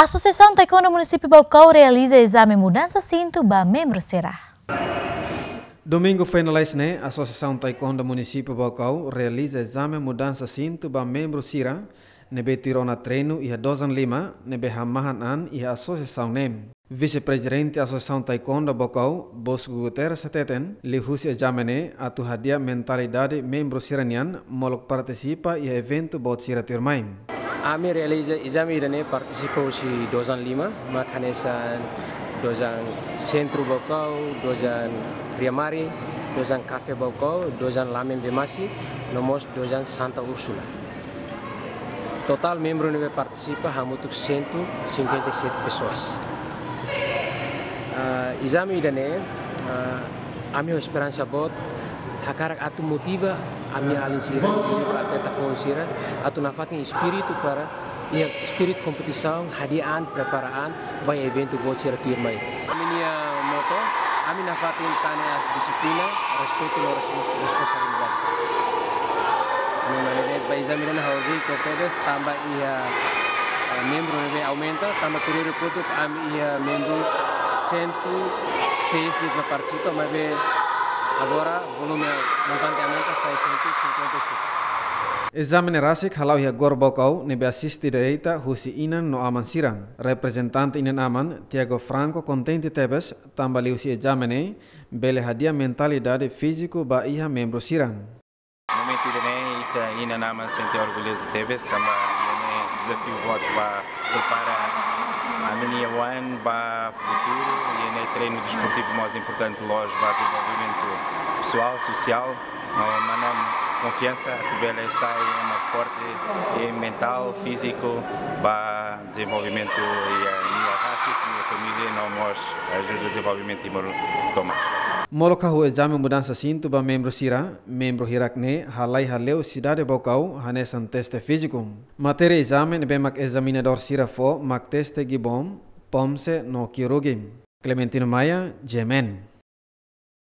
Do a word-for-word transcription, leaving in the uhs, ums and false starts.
Asosiasaun Taekwondo Munisípiu Baucau realiza ezame mudansa sintu ba membru sira. Domingu foin lalais ne'e, Asosiasaun Taekwondo Munisípiu Baucau realiza ezame mudansa sintu ba membru sira ne'ebé tuir ona treinu iha Dojang Lima, ne'ebé hamahan an iha asosiasaun ne'e. Vise-Prezidente Asosiasaun Taekwondo Baucau, Bosco Guterres hateten, liuhusi ezame ne'e atu hadi'a mentalidade membru sira-nian molok partisipa iha eventu boot sira tuirmai. Ami realiza ezame ida-ne'e partisipa husi Dojang Lima, mak hanesan Dojang Sentru Baucau, Dojang Riamari, Dojang Kafe Baucau, Dojang Lamen Bemasi, no mós Dojang Santa Úrsula. Totál membru ne'ebé partisipa hamutuk cento cinquenta e sete pessoas. Ah, ezame ida-ne'e, ah, ami ho esperansa boot, hakarak atu motiva ami-nia alin sira, ami-nia atleta foun sira, atu nafatin espíritu para iha espíritu kompetisaun hadi'a an, prepara an ba eventu boot sira tuirmai. Ami-nia moto, ami nafatin tane as dixiplina, respeitu no respons-, responsabilidade. Ami mane de ba ezame ne'e ha'u orgullu tebes tanba iha, eh, membru ne'ebé aumenta, tanba períodu kotuk ami iha membru cento e seis de'it mak partisipa, maibé agora volume montante aumenta sai cento e cinquenta e cinco. Ezame ne'e rasik hala'o iha Gor Baucau ne'ebé asiste direta husi inan no aman sira. Reprezentante inan-aman, Tiago Franco, kontente tebes tanba liuhusi ezame ne'e bele hadi'a mentalidade fíziku ba iha membru sira. Momentu ida-ne'e ita inan-aman sente orgulhozu tebes tanba ida-ne'e dezafiu boot ba prepara ami-nia oan ba futuru, ida-ne'e treinu desportivu mais importante loos ba dezenvolvimentu pesoál, sosiál, no mane konfiansa atu bele sai ema forte, eh, mentál, fíziku, ba dezenvolvimentu iha nia rasik, nia família, no mós ajuda dezenvolvimentu Timor tomak. Molok hahú ezame mudansa sintu ba membru sira, membru hirak-ne'e halai hale'u sidade Baucau hanesan teste fíziku. Matéria ezame ne'ebé mak ezaminadór sira fó mak teste gibon, pomse no ki'urugi. Clementino Maia, G M N.